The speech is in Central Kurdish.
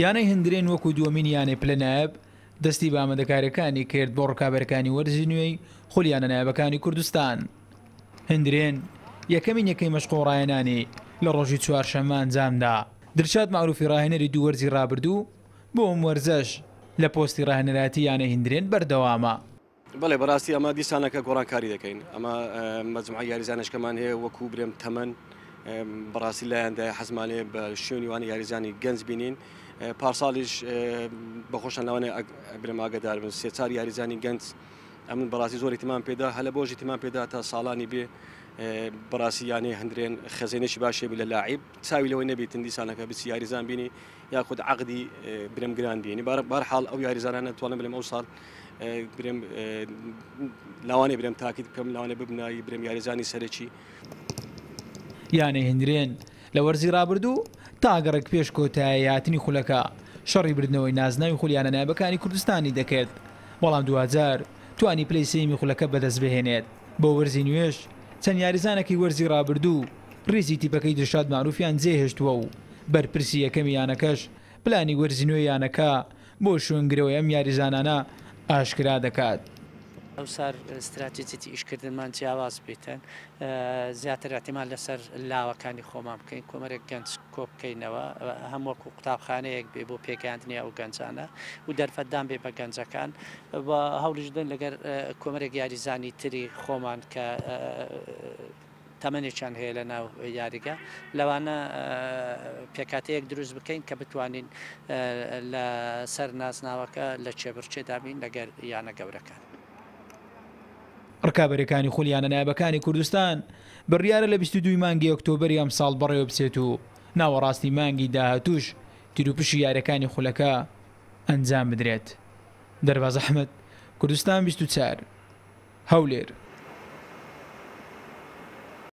یانەی هەندرێن وەکو دووەمین یانەی پلە نایاب دەستی بە ئامادەکارییەکانی کرد بۆ ڕکابەرەکانی وەرزی نوێی خولی یانە نایابەکانی کوردستان. هەندرێن یەکەمین یەکەی مەشق و ڕاهێنانی لە ڕۆژی چوارشەممە ئەنجامدا. دلشاد مەعروفی ڕاهێنەری دوو وەرزی ڕابردوو بۆ ئەم وەرزەش لە پۆستی ڕاهێنەرایەتی یانەی هەندرێن بەردەوامە. بەڵێ بەڕاستی ئەمە دیسانەکە گۆڕانکاری دەکەین ئەمە مەجموعە یاریزانشکەمان هەیە وەکو برێم تەمەن بەڕاستی لایەندای حەزمانێ بە شوێنی وانە یاریزانی گەنج بینین پارساڵیش بەخۆشان لەوانێ برێم ئاگدار بن سێ چار یاریزانی گەنج ئەمن بەڕاستی زۆر اهتمام پێدا هەلە بۆژ اهتمام پێدا تا ساڵانی بێ بەڕاستی یانەی هەندرێن خەزێنێکی باشێ لە لاعیب چاوی لەوەی نەبیتن دیسانەکە بچی یاریزان بینی یاخود عقدی برم گران بینی بار حاڵ ئەو یاریزانانە توانم بلم ئەو ساڵ برێم لاوانێ برێم تاکید بکەم لاوانێ ببنایی برێم یاریزانی سەرەکی. یانەی هەندرێن لە وەرزی رابردوو تا گەڕێک پێش کۆتایی هاتنی خولەکە شەڕی بردنەوەی نازناوی خولی یانە نایابەکانی کوردستانی دەکرد، بەڵام دواجار توانی پلەی سێیەمی خولەکە بەدەستبهێنێت. بۆ وەرزی نوێش چەند یاریزانێکی وەرزی رابردوو ریزی تیپەکەی دلشاد مەعروفیان جێهێشتووە و بەرپرسی یەکەمی یانەکەش پلانی وەرزی نوێی یانەکە بۆ شوێنگرەوەی ئەم یاریزانانە ئاشکرا دەکات. ئەوسار ستراتیجیتی ئیشکردنمان جیاواز بیتن، زیاتر ئیعتیماد لەسەر لاوەکانی خۆمان بکەین، کۆمەرێک گەنج کۆبکەینەوە هەم وەکو قوتابخانەیەک بێ بۆ پێگەیاندنی ئەو گەنجانە و دەرفەتدان بێ بە گەنجەکان و هەوڵیش بدەین لەگەر کۆمەرێک یاریزانی تری خۆمان کە تەمەنێکیان هەیە لە ناو یاریگا، لەوانە پێکهاتەیەک دروست بکەین کە بتوانین لە سەر نازناوەکە لە کێبڕکێدا بین لەگەر یانە گەورەکان. ڕکابەریەکانی خولی یانە نایابەکانی کوردستان بڕیارە لە 22 ی مانگی ئۆکتۆبەری ئەمساڵ بەڕێوەبچێت و ناوەڕاستی مانگی داهاتووش تیروپشکی یاریەکانی خولەکە ئەنجام بدرێت. دەرباز ئەحمەد، کوردستان 24، هەولێر.